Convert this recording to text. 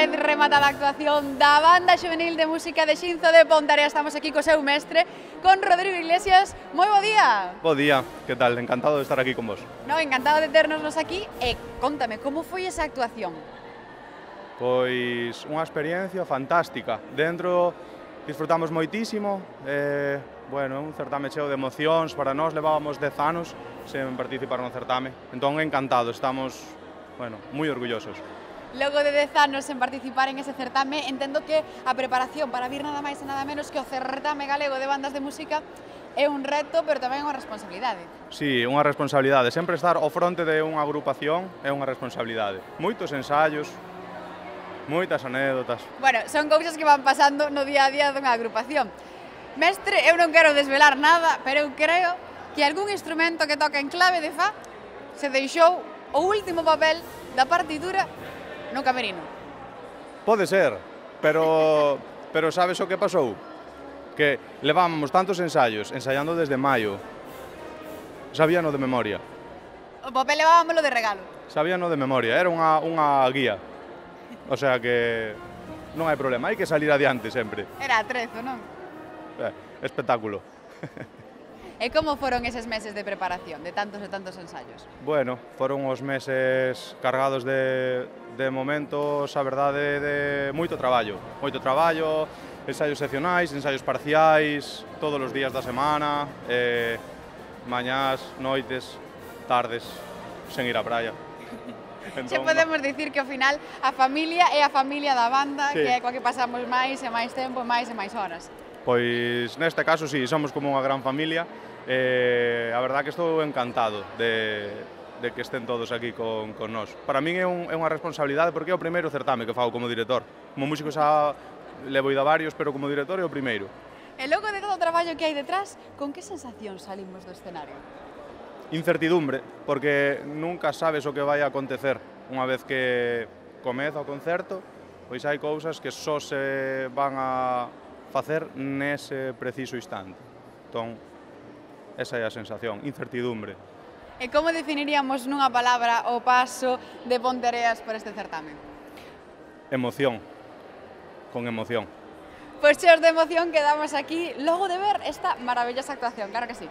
vez rematada a actuación da Banda Xuvenil de Música de Xinzo de Pontarea. Estamos aquí co seu mestre, con Rodrigo Iglesias. Moi bo día. Bo día, que tal? Encantado de estar aquí con vos. No, encantado de ternosnos aquí. E contame, como foi esa actuación? Pois unha experiencia fantástica. Dentro disfrutamos moitísimo. Bueno, un certame cheo de emocións. Para nós levábamos 10 anos sen participar no certame. Entón, encantados, estamos, bueno, moi orgullosos. Logo de 10 anos en participar en ese certame, entendo que a preparación para vir nada máis e nada menos que o certame galego de bandas de música é un reto, pero tamén unha responsabilidade. Sí, unha responsabilidade. Sempre estar ao fronte de unha agrupación é unha responsabilidade. Moitos ensaios, moitas anécdotas. Bueno, son cousas que van pasando no día a día dunha agrupación. Mestre, eu non quero desvelar nada, pero eu creo que algún instrumento que toca en clave de fa se deixou o último papel da partitura no camerino. Pode ser, pero sabes o que pasou? Que levábamos tantos ensaios, ensaiando desde maio. Sabíano de memoria. O papel levábamoslo de regalo. Sabíano de memoria, era unha guía. O sea que non hai problema, hai que salir adiante sempre. Era atrezo, non? Espectáculo. E como foron eses meses de preparación, de tantos e tantos ensaios? Bueno, foron os meses cargados de momentos, a verdade, de moito traballo. Moito traballo, ensaios seccionais, ensaios parciais, todos os días da semana, mañás, noites, tardes, sen ir á praia. Entón, podemos dicir que ao final a familia é a familia da banda, sí, que é coa que pasamos máis e máis tempo, máis e máis horas. Pois neste caso sí, somos como unha gran familia. A verdad que estou encantado de que estén todos aquí con nós. Para min é unha responsabilidade porque é o primeiro certame que fago como director. Como músico xa levo ido a varios, pero como director é o primeiro. E logo de todo o traballo que hai detrás, con que sensación salimos do escenario? Incertidumbre, porque nunca sabes o que vai a acontecer. Unha vez que comeza o concerto, pois hai cousas que só se van a facer nese preciso instante. Entón, esa é a sensación, incertidumbre. E como definiríamos nunha palabra o paso de Ponteareas por este certame? Emoción, con emoción. Pois cheos de emoción quedamos aquí logo de ver esta maravillosa actuación, claro que sí.